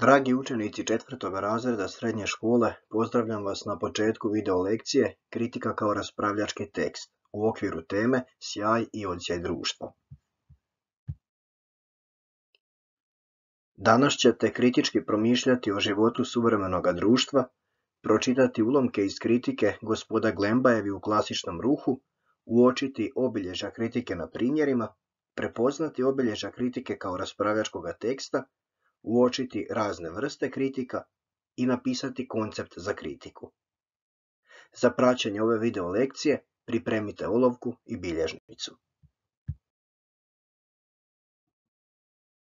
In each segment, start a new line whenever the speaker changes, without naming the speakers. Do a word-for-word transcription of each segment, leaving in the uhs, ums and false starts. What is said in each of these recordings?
Dragi učenici četvrtog razreda srednje škole, pozdravljam vas na početku video lekcije Kritika kao raspravljački tekst u okviru teme Sjaj i odsjaj društva. Danas ćete kritički promišljati o životu suvremenog društva, pročitati ulomke iz kritike gospoda Glembajevi u klasičnom ruhu, uočiti obilježja kritike na primjerima, prepoznati obilježja kritike kao raspravljačkog teksta, uočiti razne vrste kritika i napisati koncept za kritiku. Za praćenje ove video lekcije pripremite olovku i bilježnicu.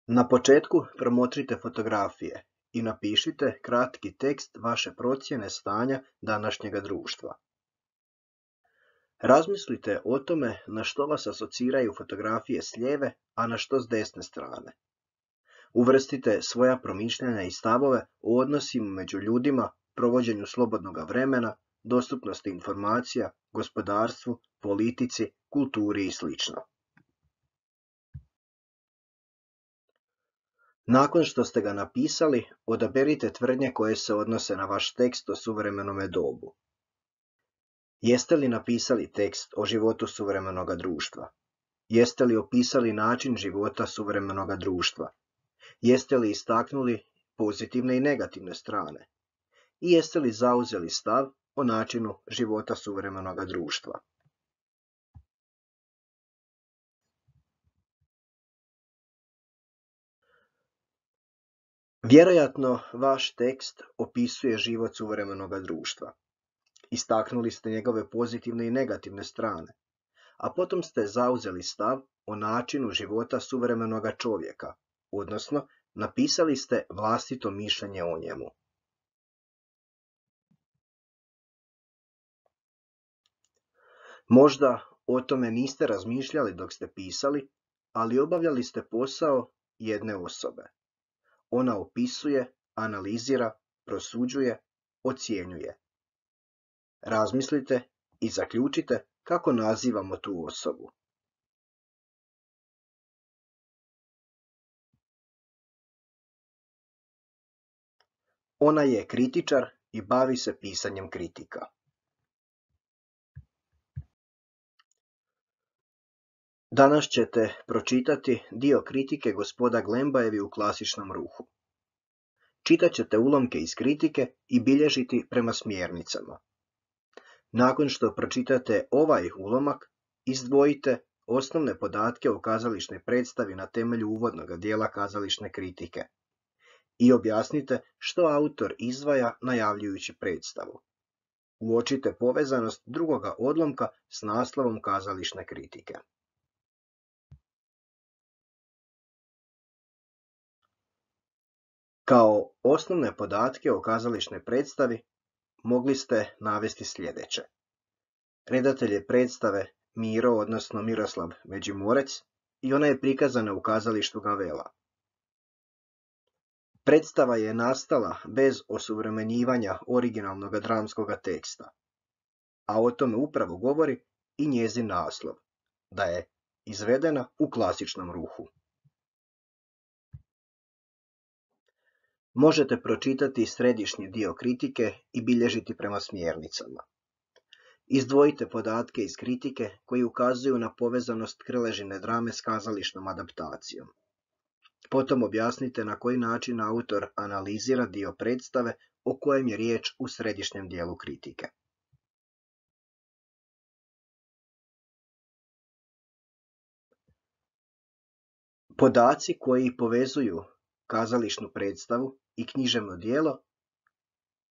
Na početku promotrite fotografije i napišite kratki tekst vaše procjene stanja današnjega društva. Razmislite o tome na što vas asociraju fotografije s lijeve, a na što s desne strane. Uvrstite svoja promišljanja i stavove o odnosima među ljudima, provođenju slobodnog vremena, dostupnosti informacija, gospodarstvu, politici, kulturi i sl. Nakon što ste ga napisali, odaberite tvrdnje koje se odnose na vaš tekst o suvremenome dobu. Jeste li napisali tekst o životu suvremenoga društva? Jeste li opisali način života suvremenoga društva? Jeste li istaknuli pozitivne i negativne strane? I jeste li zauzeli stav o načinu života suvremenoga društva? Vjerojatno vaš tekst opisuje život suvremenoga društva. Istaknuli ste njegove pozitivne i negativne strane, a potom ste zauzeli stav o načinu života suvremenoga čovjeka, odnosno napisali ste vlastito mišljenje o njemu. Možda o tome niste razmišljali dok ste pisali, ali obavljali ste posao jedne osobe. Ona opisuje, analizira, prosuđuje, ocjenjuje. Razmislite i zaključite kako nazivamo tu osobu. Ona je kritičar i bavi se pisanjem kritika. Danas ćete pročitati dio kritike gospoda Glembajevi u klasičnom ruhu. Čitat ćete ulomke iz kritike i bilježiti prema smjernicama. Nakon što pročitate ovaj ulomak, izdvojite osnovne podatke o kazališnoj predstavi na temelju uvodnog dijela kazališne kritike i objasnite što autor izdvaja najavljujući predstavu. Uočite povezanost drugoga odlomka s naslovom kazališne kritike. Kao osnovne podatke o kazališnoj predstavi mogli ste navesti sljedeće. Redatelj je predstave Miro, odnosno Miroslav Međimurec, i ona je prikazana u kazalištu Gavela. Predstava je nastala bez osuvremenjivanja originalnog dramskog teksta, a o tome upravo govori i njezin naslov, da je izvedena u klasičnom ruhu. Možete pročitati središnji dio kritike i bilježiti prema smjernicama. Izdvojite podatke iz kritike koji ukazuju na povezanost Krležine drame s kazališnom adaptacijom. Potom objasnite na koji način autor analizira dio predstave o kojem je riječ u središnjem dijelu kritike. Podaci koji povezuju kazališnu predstavu i književno djelo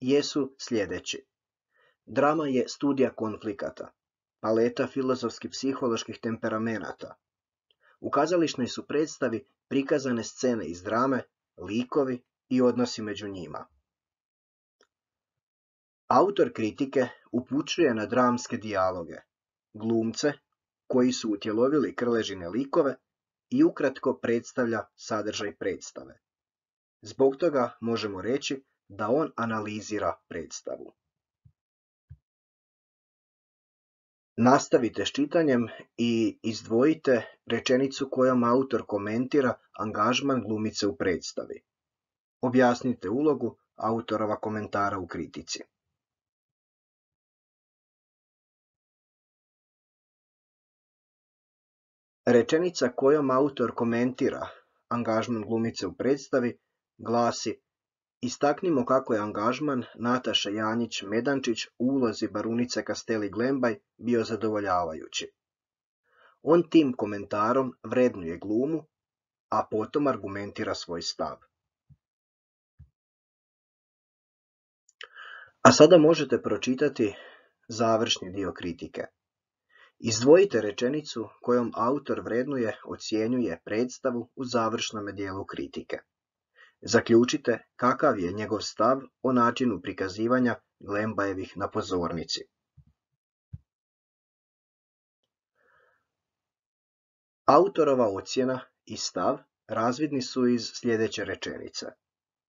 jesu sljedeći. Drama je studija konflikata, paleta filozofski-psiholoških temperamenata. U kazališnoj su predstavi prikazane scene iz drame, likovi i odnosi među njima. Autor kritike upućuje na dramske dijaloge, glumce koji su utjelovili Krležine likove i ukratko predstavlja sadržaj predstave. Zbog toga možemo reći da on analizira predstavu. Nastavite s čitanjem i izdvojite rečenicu kojom autor komentira angažman glumice u predstavi. Objasnite ulogu autorova komentara u kritici. Rečenica kojom autor komentira angažman glumice u predstavi glasi: istaknimo kako je angažman Nataše Janjić-Medančić u ulozi barunice Kasteli Glembaj bio zadovoljavajući. On tim komentarom vrednuje glumu, a potom argumentira svoj stav. A sada možete pročitati završni dio kritike. Izdvojite rečenicu kojom autor vrednuje, ocjenjuje predstavu u završnome dijelu kritike. Zaključite kakav je njegov stav o načinu prikazivanja Glembajevih na pozornici. Autorova ocjena i stav razvidni su iz sljedeće rečenice.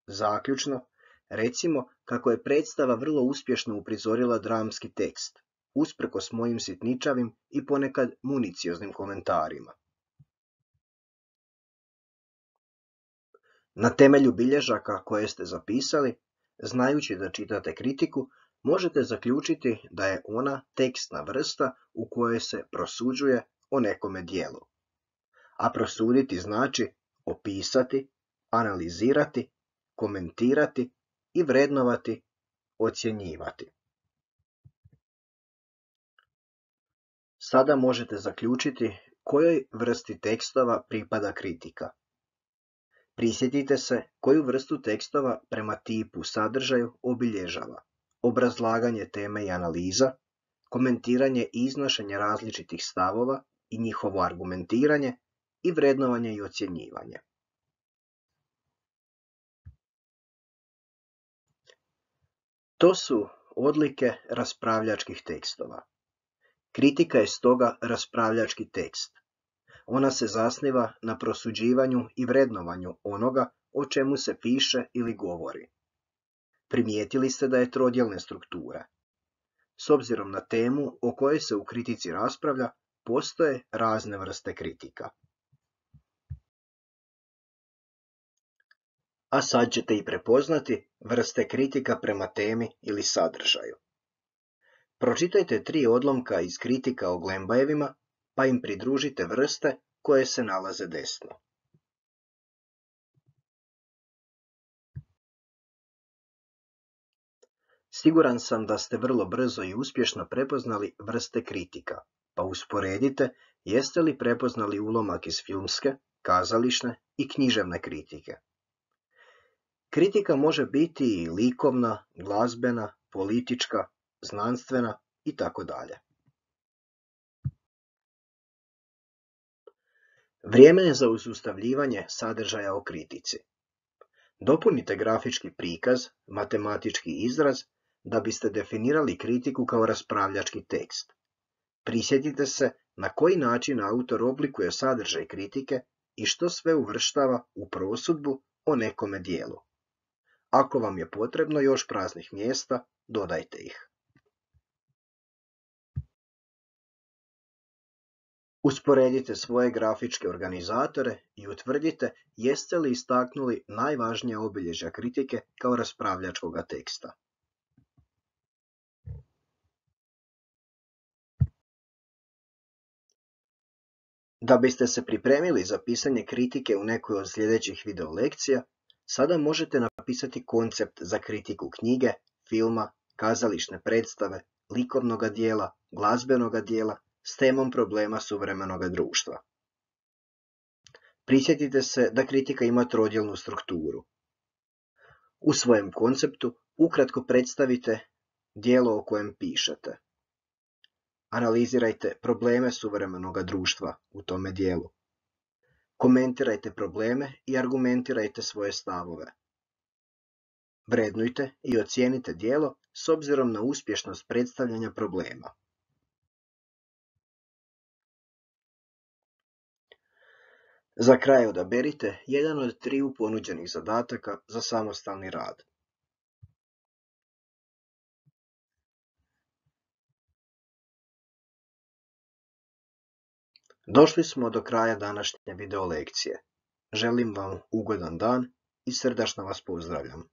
Zaključno, recimo kako je predstava vrlo uspješno uprizorila dramski tekst, usprkos mojim sitničavim i ponekad municioznim komentarima. Na temelju bilježaka koje ste zapisali, znajući da čitate kritiku, možete zaključiti da je ona tekstna vrsta u kojoj se prosuđuje o nekome djelu. A prosuditi znači opisati, analizirati, komentirati i vrednovati, ocjenjivati. Sada možete zaključiti kojoj vrsti tekstova pripada kritika. Prisjetite se koju vrstu tekstova prema tipu sadržaju obilježava: obrazlaganje teme i analiza, komentiranje i iznošenje različitih stavova i njihovo argumentiranje i vrednovanje i ocjenjivanje. To su odlike raspravljačkih tekstova. Kritika je stoga raspravljački tekst. Ona se zasniva na prosuđivanju i vrednovanju onoga o čemu se piše ili govori. Primijetili ste da je trodjelne strukture. S obzirom na temu o kojoj se u kritici raspravlja, postoje razne vrste kritika. A sad ćete i prepoznati vrste kritika prema temi ili sadržaju. Pročitajte tri odlomka iz kritika o Glembajevima, pa im pridružite vrste koje se nalaze desno. Siguran sam da ste vrlo brzo i uspješno prepoznali vrste kritika, pa usporedite jeste li prepoznali ulomak iz filmske, kazališne i književne kritike. Kritika može biti i likovna, glazbena, politička, znanstvena i tako dalje. Vrijeme je za usustavljivanje sadržaja o kritici. Dopunite grafički prikaz, matematički izraz, da biste definirali kritiku kao raspravljački tekst. Prisjetite se na koji način autor oblikuje sadržaj kritike i što sve uvrštava u prosudbu o nekome djelu. Ako vam je potrebno još praznih mjesta, dodajte ih. Usporedite svoje grafičke organizatore i utvrdite jeste li istaknuli najvažnija obilježja kritike kao raspravljačkoga teksta. Da biste se pripremili za pisanje kritike u nekoj od sljedećih video lekcija, sada možete napisati koncept za kritiku knjige, filma, kazališne predstave, likovnoga dijela, glazbenoga dijela s temom problema suvremenoga društva. Prisjetite se da kritika ima trodjelnu strukturu. U svojem konceptu ukratko predstavite djelo o kojem pišete. Analizirajte probleme suvremenoga društva u tome dijelu. Komentirajte probleme i argumentirajte svoje stavove. Vrednujte i ocijenite djelo s obzirom na uspješnost predstavljanja problema. Za kraj odaberite jedan od triju ponuđenih zadataka za samostalni rad. Došli smo do kraja današnje video lekcije. Želim vam ugodan dan i srdačno vas pozdravljam.